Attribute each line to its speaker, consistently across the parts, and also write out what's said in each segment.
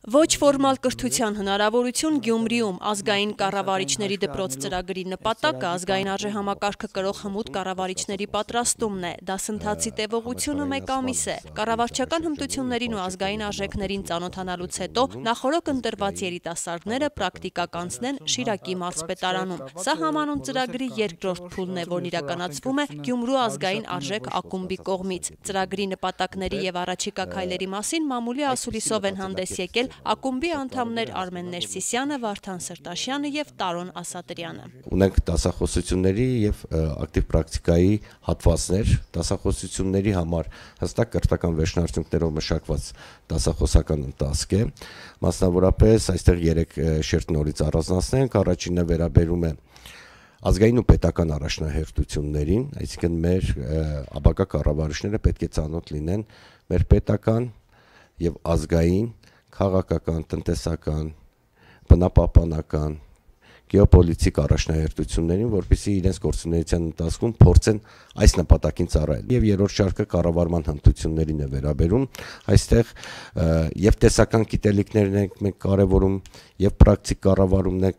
Speaker 1: Ոչ ֆորմալ կրթության հնարավորություն Գյումրիում ազգային կառավարիչների դպրոց ծրագրի նպատակը ազգային արժեհամակարգը կրող հմուտ կառավարիչների պատրաստումն է, դասընթացի տևողությունը 1 ամիս է։ Կառավարչական հմտություններին ու ազգային արժեքներին ծանոթանալուց հետո նախօրոք ընտրված երիտասարդները պրակտիկա կանցնեն Շիրակի մարզպետարանում։ Սա համանուն ծրագրի երկրորդ փուլն է, որն իրականացվում է Գյումրու ազգային արժեք ակումբի կողմից։ Ծրագրի նպատակների եւ առաջիկա քայլերի մասին մամուլի ասուլիսով են հանդես եկել ակումբի անդամներ Արմեն Ներսիսյանը, Վարդան Սրտաշյանը եւ Տարոն Ասատրյանը։
Speaker 2: Ունենք դասախոսությունների եւ ակտիվ պրակտիկայի հատվածներ, դասախոսությունների համար հստակ կրթական վերջնարդյունքներով մշակված դասախոսական ընթացք է։ Մասնավորապես այստեղ 3 շերտ նորից առանձնացնենք, առաջինը վերաբերում է ազգային ու պետական առաջնահերթություններին, այսինքն մեր ապագա կառավարիչները պետք է ծանոթ լինեն մեր պետական եւ ազգային քաղաքական, տնտեսական, բնապահպանական, գեոպոլիտիկ առաջնահերթություններին, որպեսզի իրենց գործունեության ընթացքում փորձեն այս նպատակին ծառայել։ Եվ երրորդ շարքը կառավարման հմտություններին է վերաբերում, այստեղ եւ տեսական գիտելիքներն ենք մենք կարևորում, եւ պրակտիկ կառավարումն է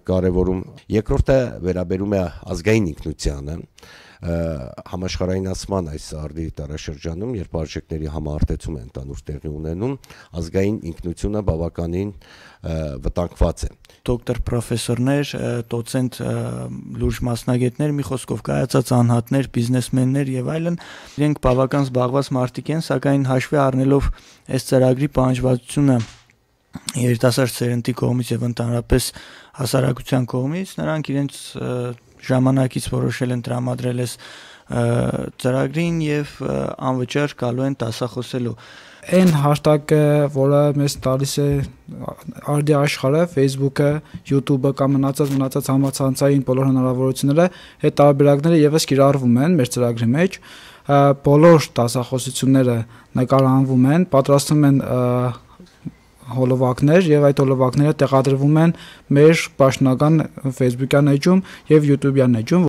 Speaker 2: կարևորում։ Երկրորդը վերաբերում է ազգային ինքնությանը, համաշխարհայնացման այս արդի տարաշրջանում, երբ արժեքների համահարտեցում է ընդհանուր տեղի ունենում, ազգային ինքնությունը բավականին վտանգված է։
Speaker 3: Դոկտոր պրոֆեսորներ, դոցենտ լուրջ մասնագետներ, մի խոսքով կայացած անհատներ, բիզնեսմեններ եւ այլն, իրենք բավական զբաղված մարդիկ են, սակայն հաշվի առնելով այս ծրագրի պահանջվածությունը երիտասարդ սերնդի կողմից եւ ընդհանրապես հասարակության կողմից, նրանք իրենց ժամանակից որոշել են տրամադրել այս ծրագրին եւ անվճար գալու են դասախոսելու։
Speaker 4: Այն հաշտակը, որը մեզ տալիս է արդի աշխարհը, Facebook-ը, YouTube-ը կամ մնացած համացանցային բոլոր հնարավորությունները, այդ տարբերակները եւս կիրառվում են մեր ծրագրի մեջ։ Բոլոր դասախոսությունները նկարահանվում են, պատրաստվում են հոլովակներ եւ այդ հոլովակները տեղադրվում են մեր պաշտոնական Facebook-յան էջում եւ YouTube-յան էջում,